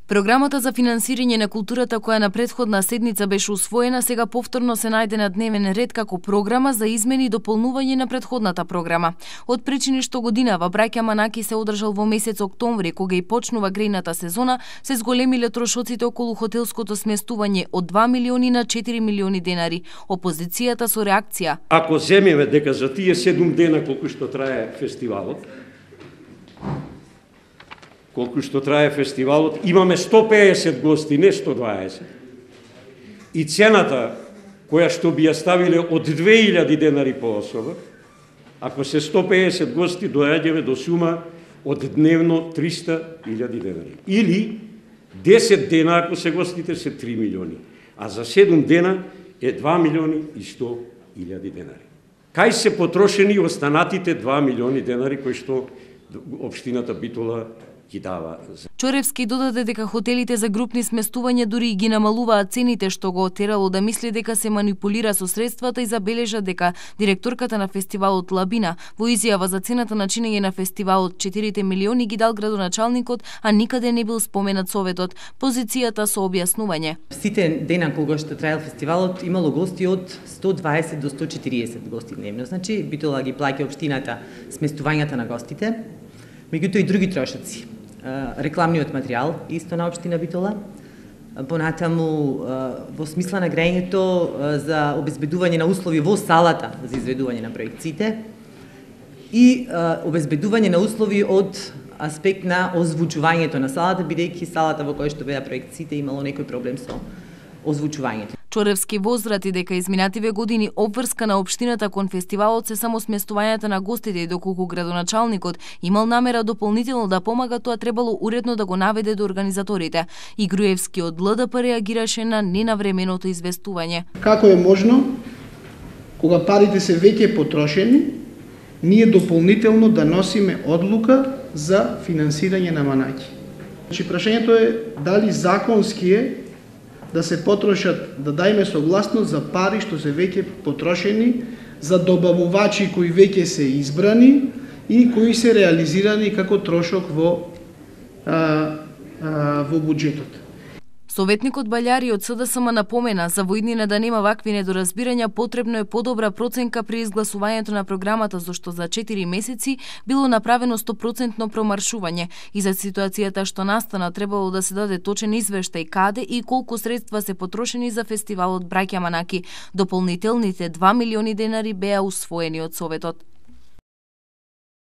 Програмата за финансирање на културата која на претходна седница беше усвоена, сега повторно се најде на дневен ред како програма за измени и дополнување на претходната програма. Од причини што годинава Браќа Манаки се одржал во месец октомври, кога и почнува грејната сезона, се зголемиле трошоците околу хотелското сместување од 2 милиони на 4 милиони денари. Опозицијата со реакција: ако земеме дека за тие 7 дена колку што трае фестивалот, имаме 150 гости, не 120. И цената која што би ја ставиле од 2000 денари по особа, ако се 150 гости, доаѓаме до сума од дневно 300.000 денари. Или 10 дена, ако се гостите, се 3 милиони. А за 7 дена е 2 милиони и 100.000 денари. Кај се потрошени останатите 2 милиони денари кои што општината Битола ги дава? Чоревски додаде дека хотелите за групни сместувања дури и ги намалуваат цените, што го отерало да мисли дека се манипулира со средствата, и забележа дека директорката на фестивалот Лабина во изјава за цената на чинење на фестивалот 4 милиони ги дал градоначалникот, а никаде не бил споменат советот. Позицијата со објаснување: сите дена кога што траел фестивалот имало гости од 120 до 140 гости дневно. Значи Битола ги плаќа општината сместувањата на гостите, меѓутоа и други трошоци. Рекламниот материјал исто на општина Битола, понатаму во смисла на грејењето за обезбедување на услови во салата за изведување на проекциите и обезбедување на услови од аспект на озвучувањето на салата, бидејќи салата во која што беа проекциите имало некој проблем со озвучувањето. Чоревски возврати дека изминативе години обврска на општината кон фестивалот се само сместувањата на гостите, и доколку градоначалникот имал намера дополнително да помага, тоа требало уредно да го наведе до организаторите. И Груевски од ЛДП реагираше на ненавременото известување. Како е можно, кога парите се веќе потрошени, ние дополнително да носиме одлука за финансирање на Манаки? Значи, прашањето е дали законски е да се потрошат, да дајме согласност за пари што се веќе потрошени, за добавувачи кои веќе се избрани и кои се реализирани како трошок во буџетот. Советникот Баљари од СДСМ напомена, за во иднина да нема вакви недоразбирања, потребно е подобра проценка при изгласувањето на програмата, зашто за 4 месеци било направено 100% промаршување, и за ситуацијата што настана требало да се даде точен извештај каде и колку средства се потрошени за фестивалот Браќа Манаки. Дополнителните 2 милиони денари беа усвоени од Советот.